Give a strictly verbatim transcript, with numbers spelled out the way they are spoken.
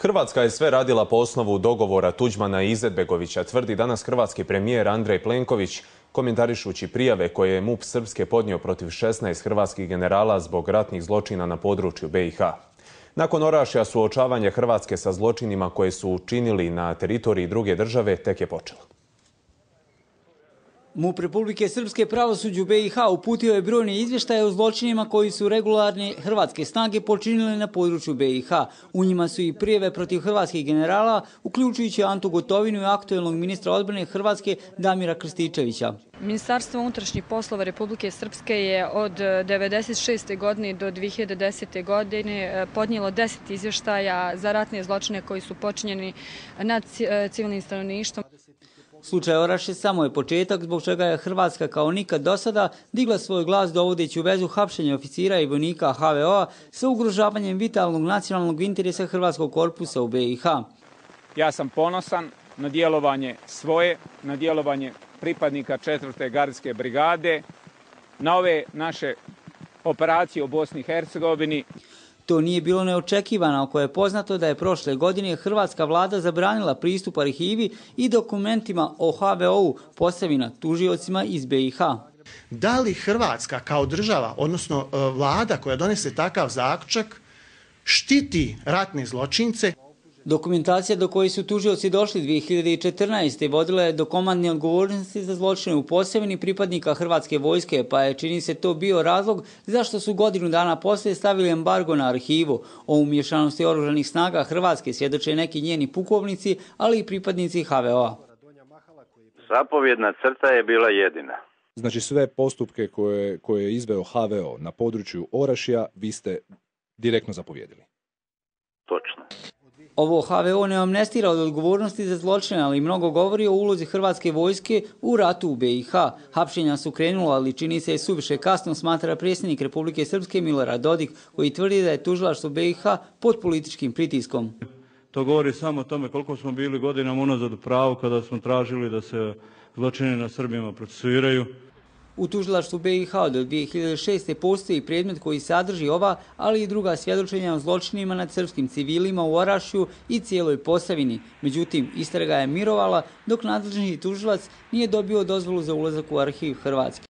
Hrvatska je sve radila po osnovu dogovora Tuđmana i Izetbegovića, tvrdi danas hrvatski premijer Andrej Plenković, komentarišući prijave koje je MUP Srpske podnio protiv šesnaest hrvatskih generala zbog ratnih zločina na području B i H. Nakon Orašja suočavanje Hrvatske sa zločinima koje su učinili na teritoriji druge države tek je počelo. MUP Republike Srpske pravosuđu B i H uputio je brojne izvještaje o zločinima koji su regularne hrvatske snage počinile na području B i H. U njima su i prijave protiv hrvatskih generala, uključujući Antu Gotovinu i aktuelnog ministra odbrane Hrvatske Damira Krstičevića. Ministarstvo unutrašnjih poslova Republike Srpske je od devedeset šeste. godine do dve hiljade desete. godine podnijelo deset izvještaja za ratne zločine koji su počinjeni nad civilnim stanovništvom. Slučaj Orašje samo je početak zbog čega je Hrvatska kao nikad do sada digla svoj glas dovodeći u vezu hapšenja oficira i vojnika H V O-a sa ugrožavanjem vitalnog nacionalnog interesa Hrvatskog korpusa u B i H. Ja sam ponosan na djelovanje svoje, na djelovanje pripadnika četvrte gardijske brigade, na ove naše operacije u Bosni i Hercegovini. To nije bilo neočekivano, ako je poznato da je prošle godine hrvatska vlada zabranila pristup arhivi i dokumentima o H V O-u Posavina tužiocima iz B i H. Da li Hrvatska kao država, odnosno vlada koja donese takav zaključak, štiti ratne zločince? Dokumentacija do koje su tužioci došli dve hiljade četrnaeste. vodila je do komandne odgovornosti za zločine u Posavini pripadnika Hrvatske vojske, pa je, čini se, to bio razlog zašto su godinu dana poslije stavili embargo na arhivu. O umješanosti oružanih snaga Hrvatske svjedoče neki njeni pukovnici, ali i pripadnici H V O-a. Zapovjedna crta je bila jedina. Znači sve postupke koje, koje je izveo H V O na području Orašja vi ste direktno zapovjedili. Točno. Ovo H V O ne amnestira od odgovornosti za zločine, ali mnogo govori o ulozi Hrvatske vojske u ratu u B i H. Hapšenja su krenula, ali čini se je suviše kasno, smatra predsjednik Republike Srpske Milorad Dodik, koji tvrdi da je tužilaštvo B i H pod političkim pritiskom. To govori samo o tome koliko smo bili godinama unazad u pravu kada smo tražili da se zločini na Srbima procesuiraju. U tužilaštvu B i H do dve hiljade šeste. postoji predmet koji sadrži ova, ali i druga svjedočenja o zločinima nad srpskim civilima u Orašju i cijeloj Posavini. Međutim, istraga je mirovala dok nadležni tužilac nije dobio dozvolu za ulazak u arhiv Hrvatske.